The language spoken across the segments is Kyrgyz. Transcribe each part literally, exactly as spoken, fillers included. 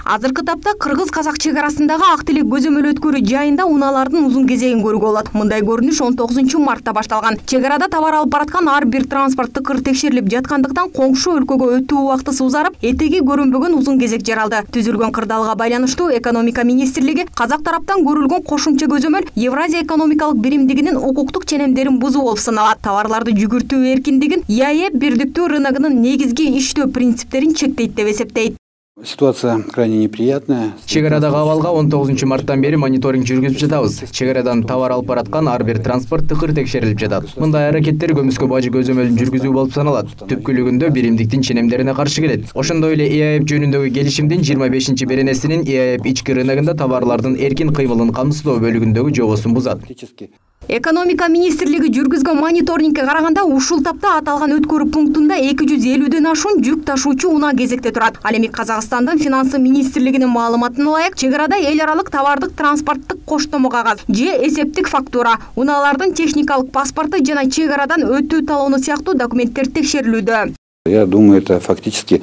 Азыркы тапта кыргыз-казак чек арасындагы ак тилек көзөмөл өткөрүү жайында унаалардын узун кезегин көрүүгө болот. Мындай көрүнүш он тогузунчу мартта башталган. Чек арада товар алып бараткан ар бир транспорт тыкыр текшерилип жаткандыктан коңшу өлкөгө өтүү убактысы узарып, этеги көрүнбөгөн узун кезек жаралды. Түзүлгөн кырдаалга байланыштуу экономика министрлиги казак тараптан көрүлгөн кошумча көзөмөл Евразия экономикалык биримдигинин укуктук ченемдерин бузуу болуп саналат. Товарларды жүгүртүү эркиндигин ЕАЭ бирдиктүү рыногунун негизги иштөө принциптерин чектейт деп эсептейт. Ситуация крайне неприятная. Чек арадагы абалга он тогузунчу марттан бери мониторинг жүргүзүп жатабыз. Чек арадан товар алып бараткан ар бир транспорт тыкыр текшерилип жатат. Мындай аракеттер көмүскө бажы көзөмөлүн жүргүзүү болуп саналат. Түпкүлүгүндө биримдиктин ченемдерине каршы келет. Ошондой эле ЕАЭ жөнүндөгү келишимдин жыйырма бешинчи беренесинин ЕАЭ ички рыногунда товарлардын эркин кыймылын камсыздоо бөлүгүндөгү жобосун бузат. Экономика министрлиги жүргүзгөн мониторингке караганда ушул тапта аталган өткөрүү пунктунда эки жүз элүүдөн ашуун жүк ташуучу унаа кезекте турат. Ал эми Казакстандын финансы министрлигинин маалыматына ылайык, чек арада эл аралык товардык транспорттук коштомо кагаз же эсептик фактура, унаалардын техникалык паспорту жана чек арадан өтүү талоону сыяктуу документтер текшерилүүдө. Я думаю, это фактически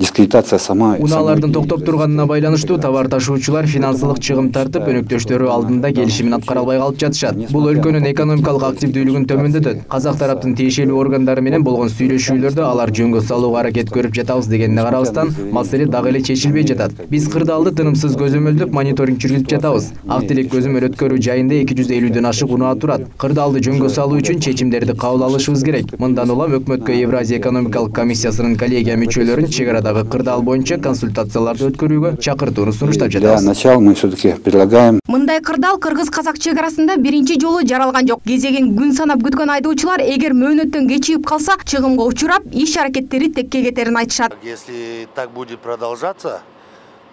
дискредитация сама. Унаалардын токтоп турганына байланыштуу товар ташуучулар финансылык чыгым тартып, өнөктөштөрү алдында келишимин аткара албай калып жатышат. Бул өлкөнүн экономикалык активдүүлүгүн төмөндөтөт. Казак тараптын тиешелүү органдары менен болгон сүйлөшүүлөрдө алар жөнгө салууга аракет көрүп жатабыз дегенине карабастан, маселе дагы эле чечилбей жатат. Биз кырдаалды тынымсыз көзөмөлдөп мониторинг жүргүзүп жатабыз. Ак тилек көзөмөл өткөрүү жайында эки жүз элүүдөн ашык унаа турат. Кырдаалды жөнгө салуу үчүн чечимдерди кабыл алышыбыз керек. Мындан улам өкмөткө Евразия экономикалык комиссиясынын коллегия мүчөлөрүн чек арадагы кырдаал боюнча консультацияларды өткөрүүгө чакыртууну сунуштап жатабыз. Для начала мы все-таки предлагаем. Мындай кырдаал кыргыз-казак чек арасында биринчи жолу жаралган жок. Кезегин күн санап күткөн айдоочулар эгер мөөнөттөн кечигип калса, чыгымга учурап, иш аракеттери текке кетерин айтышат. Если так будет продолжаться,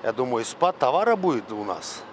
я думаю, спад товара будет у нас.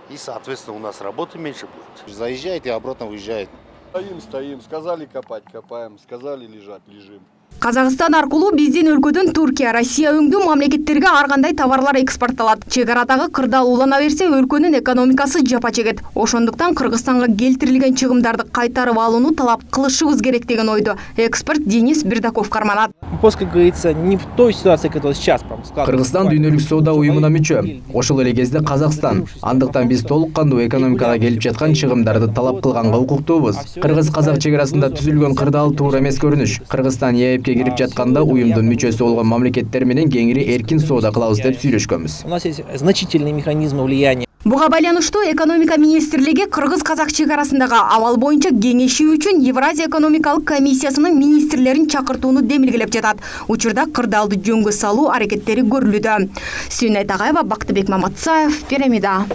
И, соответственно, у нас работы меньше будет. Заезжает и обратно уезжает. Стоим, стоим, сказали копать, копаем, сказали лежать, лежим. Казакстан аркылуу биздин өлкөдөн Туркия, Россия өңдүү мамлекеттерге ар кандай товарлар экспортталат. Чек арадагы кырдаал улана берсе, өлкөнүн экономикасы жапа чегет. Ошондуктан Кыргызстанга келтирилген чыгымдарды кайтарып алууну талап кылышыбыз керек деген ойду эксперт Денис Бердаков карманат. Просто, как говорится, не в той ситуации, которая сейчас складывается. Кыргызстан дүйнөлүк соода уюмуна мүчө. Ошол эле кезде Казакстан. Андыктан биз толук кандуу экономикага келип жаткан чыгымдарды талап кылганга укуктуубуз. Кыргыз-казак чек арасында түзүлгөн кырдаал туура эмес көрүнүш. Кыргызстан ЕАЭПке кирип жатканда уюмдун мүчөсү болгон мамлекеттер менен кеңири эркин соода кылабыз деп сүйлөшкөнбүз. У нас есть значительные механизмы влияния. Буга байланыштуу экономика министрлиги кыргыз-казак чек арасындагы абал боюнча кеңешүү үчүн Евразия экономикалык комиссиясынын министрлерин чакыртууну демилгелеп жатат. Учурда кырдаалды жөнгө салуу аракеттери көрүлүүдө. Сүйнөй Тагайева, Бактыбек Маматсаев, Пирамида.